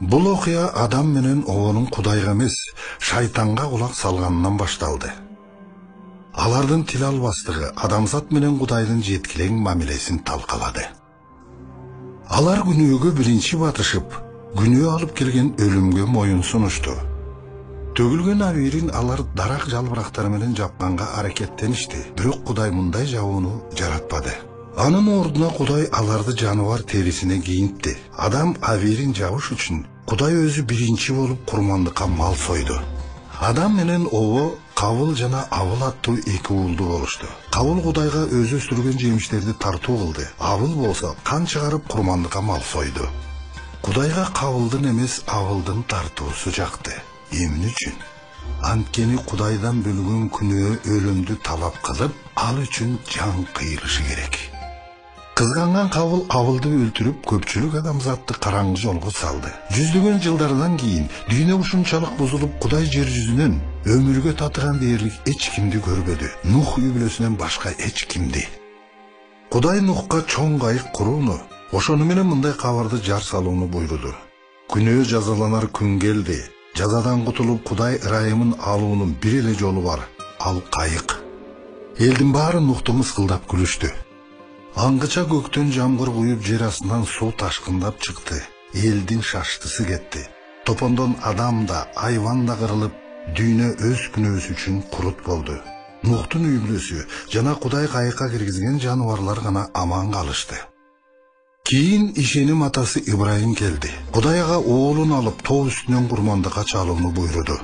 Бул окуя Адам менен Оонун Кудайга эмес, шайтанга кулак салганынан башталды. Алардын тил албастыгы адамзат менен Кудайдын жеткилең мамилесин талкалады. Алар күнөөгө биринчи батышып, күнөө алып келген өлүмгө моюн сунушту. Төгүлгөн абийирин алар дарак жалбырактары менен жапканга аракеттеништи, бирок Кудай мындай жабууну жаратпады. Анын ордуна Кудай аларды жаныбар терисине кийинтти. Адам абийирин жабыш үчүн Кудай өзү биринчи болуп курмандыкка мал сойду. Адам менен Ово Кабыл жана Абыл аттуу эки уулду болушту. Кабыл Кудайга өзү өстүргөн жемиштерди тартуу кылды. Абыл болсо кан чыгарып курмандыкка мал сойду. Кудайга Кабылдын эмес Абылдын тартуусу жакты. Эмне үчүн? Анткени Кудайдан бөлгөн күнөө өлүмдү талап кылып, ал үчүн жан кыйылышы керек. Кызганган Кабыл Абылды өлтүрүп, көпчүлүк адамзатты караңгы жолго салды. Жүздөгөн жылдардан кийин дүйнө ушунчалык бузулуп, Кудай жер жүзүнөн өмүргө татыган дээрлик эч кимди көрбөдү. Нух үй бүлөсүнөн башка эч кимди. Кудай Нухка чоң кайык курууну, ошону менен мындай кабарды жар салууну буйруду. Күнөө жазаланар күн келди. Жазадан кутулуп Кудай ырайымын алуунун бир эле жолу бар. Ал кайык. Элдин баары Нухту мыскылдап күлүштү. Аңгыча көктөн жамгыр куюп, жер астынан суу ташкындап чыкты. Элдин шаштысы кетти. Топондон адам да, айван да кырылып, дүйнө өз күнөөсү үчүн курут болду. Нухтун үй бүлөсү жана Кудай кайыкка киргизген жаныбарлар гана аман калышты. Кийин ишеним атасы Ибрайым келди. Кудайга оолун алып тоо үстүнөн курмандыкка чалууну буйруду.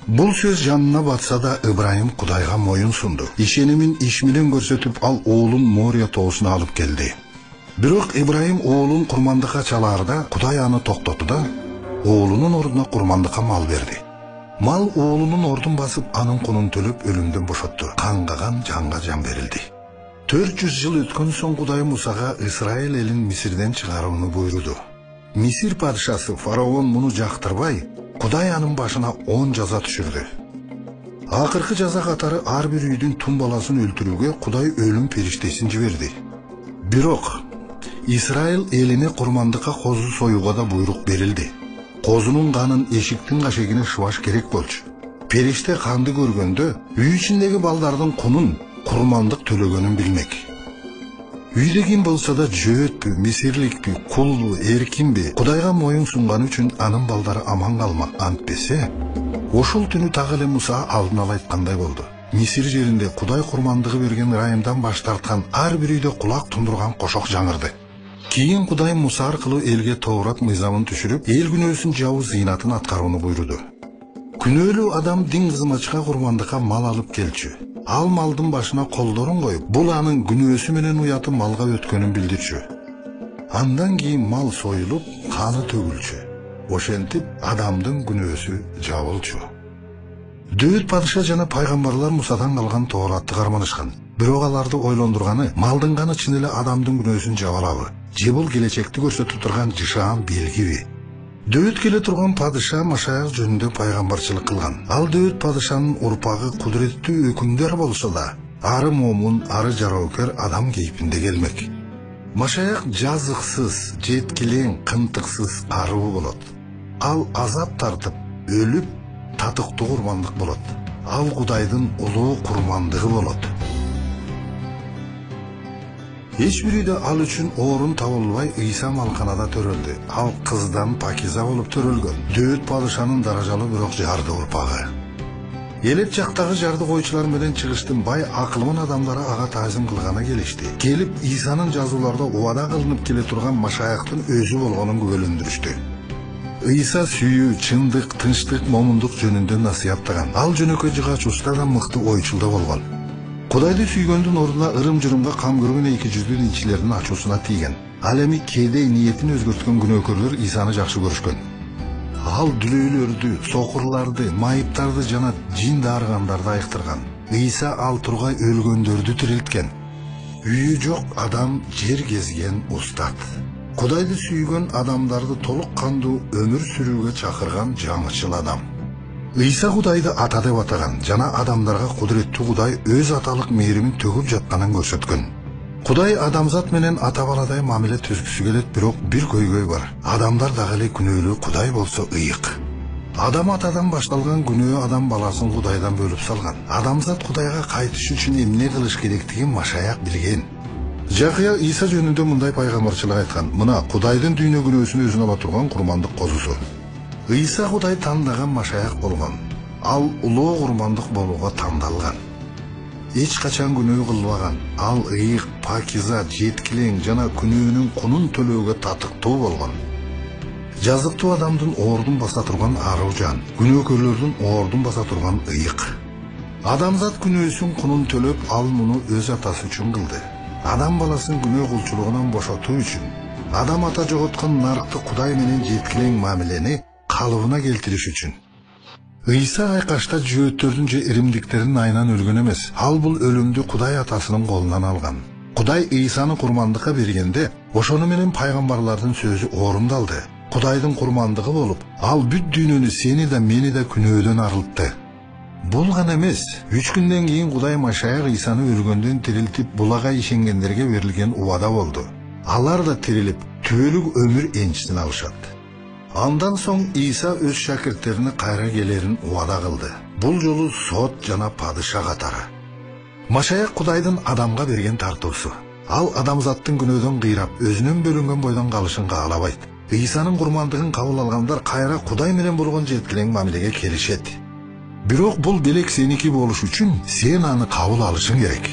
Бул сөз жанына батса да Ибрайым Кудайга моюн сунду. Ишенимин иш менен көрсөтүп, ал оолун Мория тоосуна алып келди. Бирок Ибрайым оолун курмандыкка чалаарда Кудай аны токтотду да оолунун ордуна курмандыкка мал берди. Мал оолунун ордун басып, анын кунун төлөп өлүмдөн бошотту. Кангаган жанга жан берилди. 400 жыл өткөн соң Кудай Мусага Исраил элин Мисирден чыгарууну буйруду. Мисир падышасы фараон муну жактырбай, Кудай анын башына 10 жаза түшүрдү. Акыркы жаза катары ар бир үйдүн тун баласын өлтүрүүгө Кудай өлүм периштесин жиберди. Бирок Исраил элине курмандыкка козу союуга да буйрук берилди. Козунун канын эшиктин кашегине шыбаш керек болчу. Периште канды көргөндө үй ичиндеги балдардын кунун курмандык төлөгөнүн билмек. Үйдө ким болсо да жөөтпү, мисирликпи, кулбу, эркинби, Кудайга моюн сунганы үчүн анын балдары аман калмак. Антпесе, ошол түнү так эле Муса алдын ала айткандай болду. Мисир жеринде Кудай курмандыгы берген ырайымдан баш тарткан ар бир үйдө кулак тундурган кошок жаңырды. Кийин Кудай Муса аркылуу элге Тоорат мыйзамын түшүрүп, эл күнөөсүн жабуу зыйнатын аткарууну буйруду. Күнөөлүү адам дин кызматчыга курмандыкка мал алып келчү. Ал малдын башына колдорун коюп, бул анын күнөөсү менен уяты малга өткөнүн билдирчү. Андан кийин мал союлуп, каны төгүлчү. Ошентип адамдын күнөөсү жабылчу. Дөөт падыша жана пайгамбарлар Мусадан калган Тооратты карманышкан. Бирок аларды ойлондурганы, малдын каны чын эле адамдын күнөөсүн жабалабы? Же бул келечекти көрсөтүп турган жышаан белгиби? Дөөт келе турган падыша Машаяк жөнүндө пайгамбарчылык кылган. Ал дөөт падышанын урпагы кудуреттүү өкүмдөр болсо да, ары момун, ары жароокер адам кейпинде келмек. Машаяк жазыксыз, жеткилең, кымтыксыз аруу болот. Ал азап тартып, өлүп, татыктуу курмандык болот. Ал Кудайдын улуу курмандыгы болот. Эч бир үйдө ал үчүн орун табылбай Ыйса малканада төрөлдү. Ал кыздан пакиза болуп төрөлгөн. Дөөт падышанын даражалуу бирок жарды урпагы. Элеп жактагы жарды койчулар менен чыгыштын бай акылман адамдары ага таазим кылганы келишти. Келип Исанын жазууларда убада кылынып келе турган Машаяктын өзү болгонун күбөлөндүрүштү. Ыйса сүйүү, чындык, тынчтык, момундук жөнүндө насыяттаган. Ал жөнөкөй жыгач уста да мыкты ойчул да болгон. Кудайды сүйгөндүн ордуна ырым-жырымга кам көргөн эки жүздүү динчилердин ачуусуна тийген. Ал эми кээде ниетин өзгөрткөн күнөөкөрлөр Исаны жакшы көрүшкөн. Ал дүлөйлөрдү, сокурларды, майыптарды жана жин дарыгандарды айыктырган. Ыйса ал тургай өлгөндөрдү тирилткен. Үйү жок адам жер кезген устат. Кудайды сүйгөн адамдарды толук кандуу өмүр сүрүүгө чакырган жаңычыл адам. Ыйса Кудайды ата деп атаган жана адамдарга кудуреттүү Кудай өз аталык мээримин төгүп жатканын көрсөткөн. Кудай адамзат менен ата баладай мамиле түзгүсү келет, бирок бир көйгөй бар. Адамдар дагы эле күнөөлүү, Кудай болсо ыйык. Адам атадан башталган күнөө адам баласын Кудайдан бөлүп салган. Адамзат Кудайга кайтыш үчүн эмне кылыш керектигин машаяк билген. Жакыя Иса жөнүндө мындай пайгамбарчылык айткан: мына Кудайдын дүйнө күнөөсүн өзүнө ала турган курмандык козусу. Иса Кудай тандаган машаяк болгон. Ал улуу курмандык болууга тандалган. Эч качан күнөө кылбаган. Ал ыйык, пакиза, жеткилең жана күнөөнүн кунун төлөөгө татыктуу болгон. Жазыктуу адамдын оордун баса турган аруу жан, күнөөкөрлөрдүн оордун баса турган ыйык. Адамзат күнөөсүн кунун төлөп, ал муну өз атасы үчүн кылды. Адам баласын күнөө кулчулугунан бошотуу үчүн. Адам ата жоготкон наркты Кудай менен жеткилең мамилени калыбына келтириш үчүн. Иса айкашта жөөттөрдүн же иримдиктердин айынан өлгөн эмес. Ал бул өлүмдү Кудай атасынын колунан алган. Кудай Исаны курмандыкка бергенде, ошону менен пайгамбарлардын сөзү орумдалды. Кудайдын курмандыгы болуп, ал бүт дүйнөнү, сени да мени да күнөөдөн арылтты. Бул гана эмес, 3 күндөн кийин Кудай Машаяк Исаны өлгөндөн тирилтип, булага ишенгендерге берилген убада болду. Алар да тирилип, түбөлүк өмүр энчисин алышат. Андан соң Иса өз шакирттерине кайра келерин убада кылды. Бул жолу сот жана падыша катары. Машаяк Кудайдын адамга берген тартуусу. Ал адамзаттын күнөөдөн кыйрап, өзүнөн бөлүнгөн бойдон калышын каалабайт. Исанын курмандыгын кабыл алгандар кайра Кудай менен болгон жеткилең мамилеге келишет. Бирок бул белек сеники болуш үчүн сен аны кабыл алышың керек.